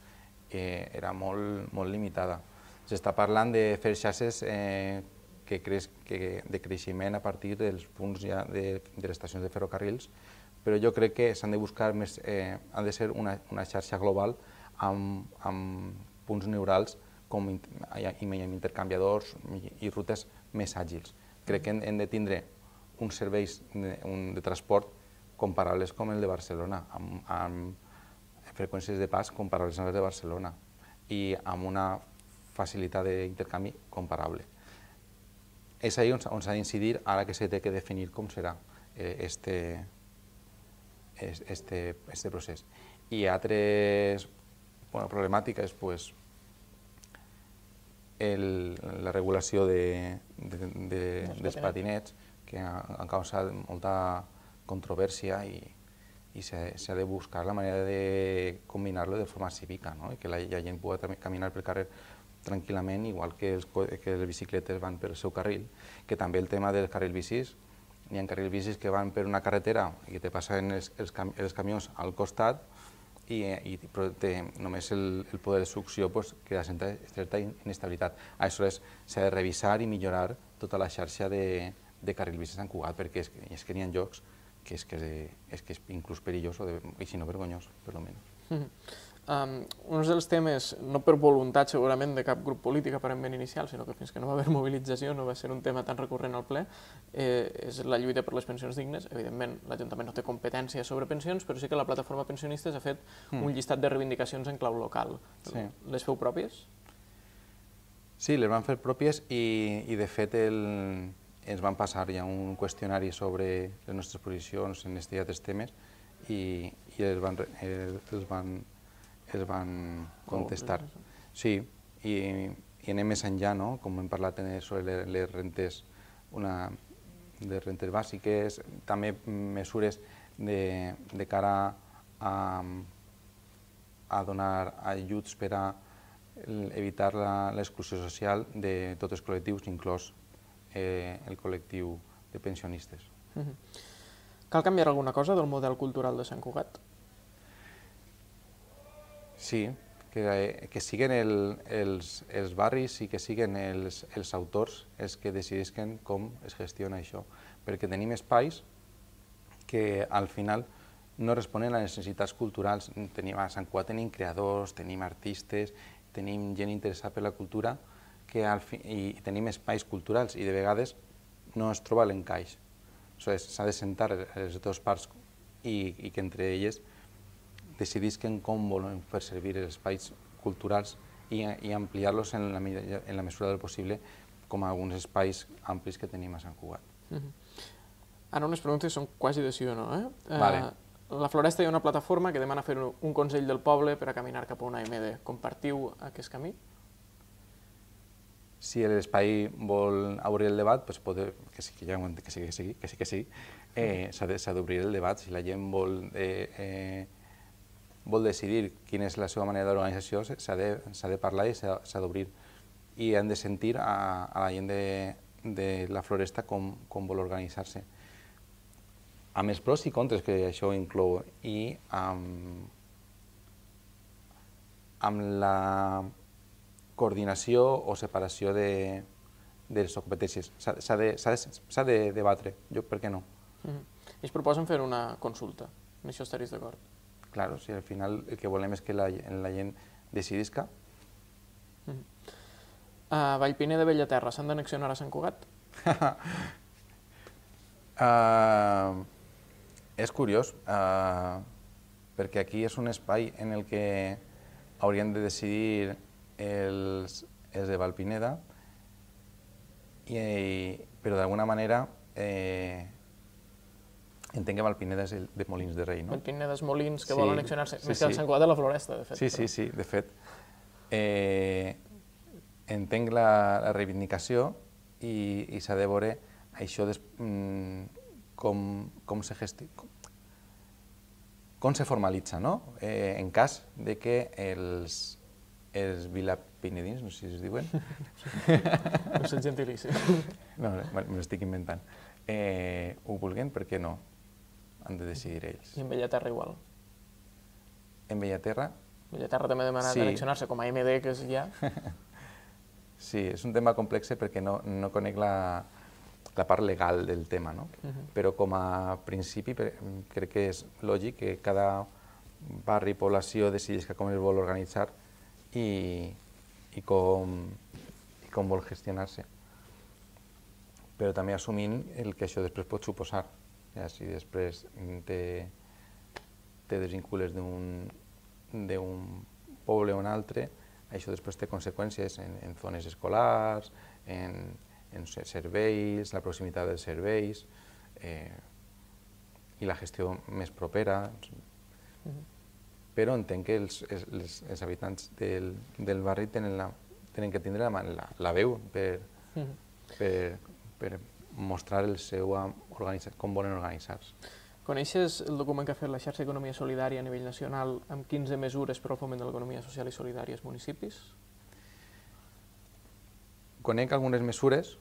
era molt limitada. S'està parlant de fer xarxes de creixement a partir dels punts ja de les estacions de ferrocarrils, però jo crec que s'han de buscar més, ha de ser una xarxa global amb punts neurals i amb intercanviadors i rutes més àgils. Crec que hem de tindre uns serveis de transport comparables com el de Barcelona, amb freqüències de pas comparables amb les de Barcelona i amb una facilitat d'intercanvi comparable. És ahí on s'ha d'incidir, ara que s'ha de definir com serà este procés. I altres problemàtiques, la regulació dels patinets, que han causat molta controvèrsia i s'ha de buscar la manera de combinar-lo de forma cívica, que la gent pugui caminar pel carrer tranquil·lament, igual que les bicicletes van pel seu carril, que també el tema dels carrils bicis, hi ha carrils bicis que van per una carretera i te passen els camions al costat i només el poder de succió crea certa inestabilitat. Aleshores, s'ha de revisar i millorar tota la xarxa de carrils bicis a Sant Cugat, perquè és que n'hi ha llocs que és inclús perillós, i si no vergonyós, per almenys. Un dels temes, no per voluntat segurament de cap grup polític aparentment inicial, sinó que fins que no va haver mobilització no va ser un tema tan recurrent al ple, és la lluita per les pensions dignes. Evidentment, l'Ajuntament no té competència sobre pensions, però sí que la plataforma pensionistes ha fet un llistat de reivindicacions en clau local. Les feu pròpies? Sí, les van fer pròpies i de fet ens van passar ja un qüestionari sobre les nostres posicions en aquests temes i els contestar. Sí, i anem més enllà, no? Com hem parlat sobre les rentes, de rentes bàsiques, també mesures de cara a donar ajuts per a evitar l'exclusió social de tots els col·lectius, inclòs el col·lectiu de pensionistes. Cal canviar alguna cosa del model cultural de Sant Cugat? Sí, que siguin els barris i que siguin els autors els que decidisquen com es gestiona això, perquè tenim espais que al final no responen a les necessitats culturals. A Sant Cugat tenim creadors, tenim artistes, tenim gent interessada per la cultura i tenim espais culturals i de vegades no es troba l'encaix. S'ha de sentar les dues parts i que entre elles decidisquen com volen fer servir els espais culturals i ampliar-los en la mesura del possible com alguns espais amplis que tenim a Sant Cugat. Ara unes preguntes són quasi de sí o no. Vale. La Floresta hi ha una plataforma que demana fer un Consell del Poble per a caminar cap a una AMD. Compartiu aquest camí? Si l'espai vol obrir el debat, que sí, s'ha d'obrir el debat. Si la gent vol decidir quina és la seva manera d'organització, s'ha de parlar i s'ha d'obrir. I han de sentir a la gent de la Floresta com vol organitzar-se. Amb els pros i contres que això inclou i amb la coordinació o separació de les competències. S'ha de debatre, per què no? Ells proposen fer una consulta, amb això estaries d'acord? Clar, si al final el que volem és que la gent decidisca. A Vallpiner de Bellaterra s'han d'annexionar a Sant Cugat? És curiós, perquè aquí és un espai en el que haurien de decidir els de Vallpineda, però d'alguna manera entenc que Vallpineda és el de Molins de Rei, no? Vallpineda és Molins, que vol annexionar-se, més que el Sant Cugat de la Floresta, de fet. Sí, de fet. Entenc la reivindicació i s'ha de veure això com se formalitza, no? En cas de que els vilapinedins, no sé si es diuen. No sé el gentilici. No, me l'estic inventant. Ho vulguin, per què no? Han de decidir ells. I en Bellaterra igual? En Bellaterra? Bellaterra també demana d'annexionar-se com a AMD, que és ja. Sí, és un tema complex perquè no conec la part legal del tema, no? Però com a principi crec que és lògic que cada barri i població decidisca com es vol organitzar i com vol gestionar-se. Però també assumint el que això després pot suposar. Si després te desvincules d'un poble o un altre, això després té conseqüències en zones escolars, en serveis, la proximitat dels serveis i la gestió més propera. Però entenc que els habitants del barri tenen que tindre la veu per mostrar com volen organitzar-se. Coneixes el document que ha fet la xarxa d'Economia Solidària a nivell nacional amb 15 mesures per al foment de l'economia social i solidària als municipis? Conec algunes mesures,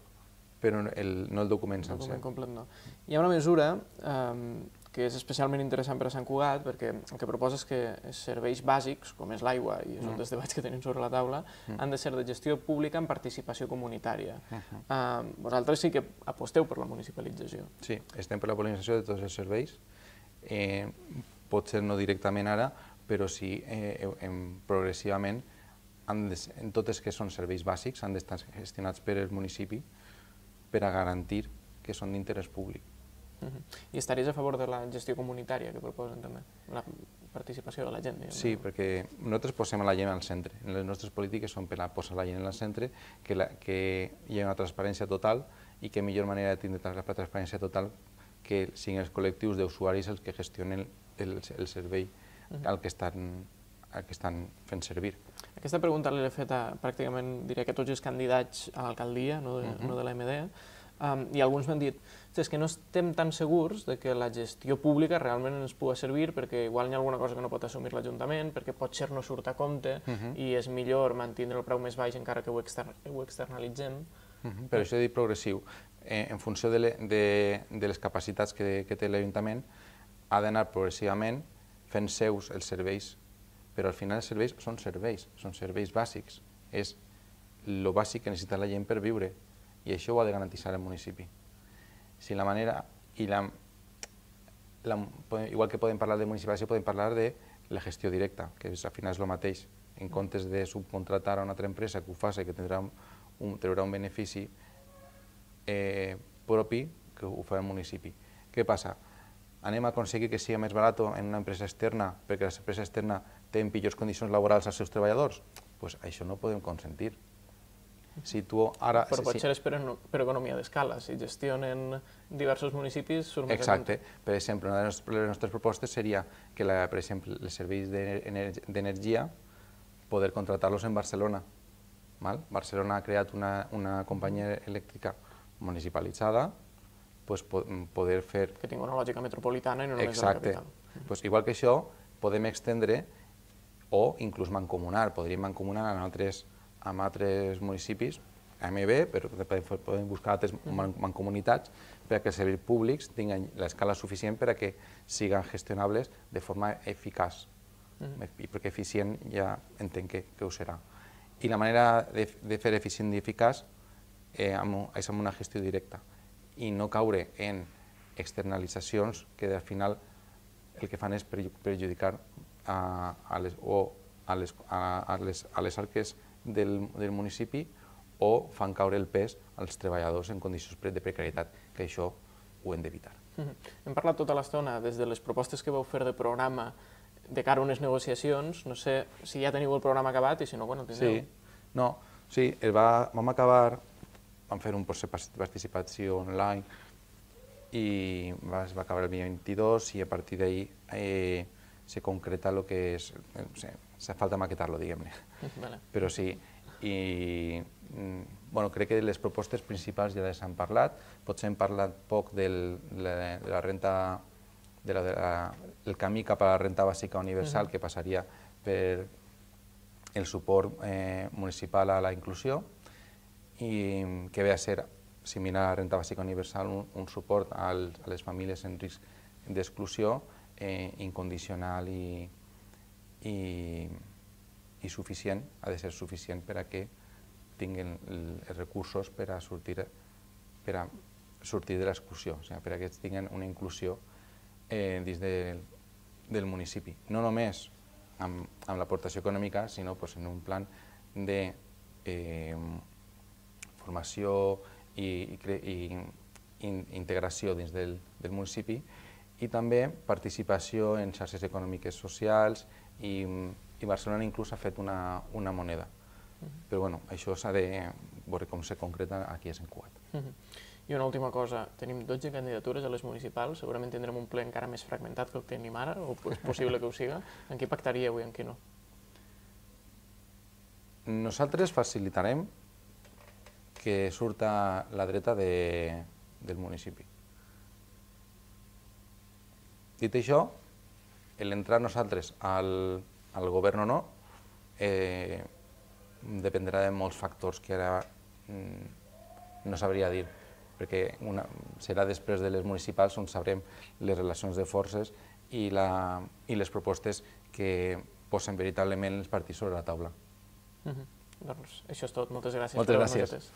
però no el document sencer. El document complet no. Hi ha una mesura que és especialment interessant per a Sant Cugat, perquè el que proposa és que els serveis bàsics, com és l'aigua, i és un dels debats que tenim sobre la taula, han de ser de gestió pública amb participació comunitària. Vosaltres sí que aposteu per la municipalització. Sí, estem per la municipalització de tots els serveis. Potser no directament ara, però sí progressivament en tots els que són serveis bàsics han d'estar gestionats per el municipi per a garantir que són d'interès públic. I estaries a favor de la gestió comunitària que proposen també, la participació de la gent? Sí, perquè nosaltres posem la gent al centre. Les nostres polítiques són per posar la gent al centre, que hi ha una transparència total i que millor manera de tindre la transparència total que siguin els col·lectius d'usuaris els que gestionen el servei al que estan estan fent servir. Aquesta pregunta l'he fet a pràcticament, diria que tots els candidats a l'alcaldia, no de l'AMD, i alguns m'han dit és que no estem tan segurs de que la gestió pública realment ens pugui servir perquè igual hi ha alguna cosa que no pot assumir l'Ajuntament, perquè potser no surt a compte i és millor mantenir el preu més baix encara que ho externalitzem. Per això he dit progressiu. En funció de les capacitats que té l'Ajuntament, ha d'anar progressivament fent seus els serveis, però al final els serveis són serveis bàsics. És el bàsic que necessita la gent per viure i això ho ha de garantir el municipi. Si la manera, igual que podem parlar de municipalització, podem parlar de la gestió directa, que al final és el mateix. En comptes de subcontratar a una altra empresa que ho faci, que traurà un benefici propi, que ho fa el municipi. Què passa? Anem a aconseguir que sigui més barat en una empresa externa perquè l'empresa externa té pitjors condicions laborals als seus treballadors? Doncs això no ho podem consentir. Però potser és per economia d'escala. Si gestionen diversos municipis, surt més a compte. Exacte. Per exemple, una de les nostres propostes seria que, per exemple, els serveis d'energia, poder contratar-los en Barcelona. Barcelona ha creat una companyia elèctrica municipalitzada, poder fer... Que tingui una lògica metropolitana i no només de la capital. Exacte. Igual que això, podem extendre o inclús mancomunar. Podríem mancomunar amb altres municipis, AMB, però podem buscar altres mancomunitats perquè els serveis públics tinguin l'escala suficient per a que siguin gestionables de forma eficaç. I perquè eficient ja entenc que ho serà. I la manera de fer eficient i eficaç és amb una gestió directa i no caure en externalitzacions que al final el que fan és perjudicar a les arques del municipi o fan caure el pes als treballadors en condicions de precarietat, que això ho hem d'evitar. Hem parlat tota l'estona des de les propostes que vau fer de programa de cara a unes negociacions. No sé si ja teniu el programa acabat i si no, quan el tindreu? Sí, vam acabar, vam fer un procés de participació online i es va acabar el dia 22 i a partir d'ahir se concreta el que és, falta maquetar-lo, diguem-ne. Però sí, i crec que les propostes principals ja les hem parlat, potser hem parlat poc de la renta, del camí cap a la renta bàsica universal, que passaria per el suport municipal a la inclusió i que ve a ser similar a la renta bàsica universal, un suport a les famílies en risc d'exclusió incondicional i suficient, ha de ser suficient per a que tinguin els recursos per a sortir de l'exclusió, per a que tinguin una inclusió dins del municipi. No només amb l'aportació econòmica, sinó en un plan de formació i integració dins del municipi i també participació en xarxes econòmiques socials i Barcelona inclús ha fet una moneda. Però això s'ha de veure com se concreta aquí a Sant Cugat. I una última cosa, tenim 12 candidatures a les municipals, segurament tindrem un ple encara més fragmentat que el que tenim ara, o és possible que ho siga. En qui pactaríeu i en qui no? Nosaltres facilitarem que surta la dreta del municipi. Dit això, l'entrar nosaltres al govern o no dependrà de molts factors que ara no sabria dir, perquè serà després de les municipals on sabrem les relacions de forces i les propostes que posen veritablement els partits sobre la taula. Doncs això és tot. Moltes gràcies. Moltes gràcies.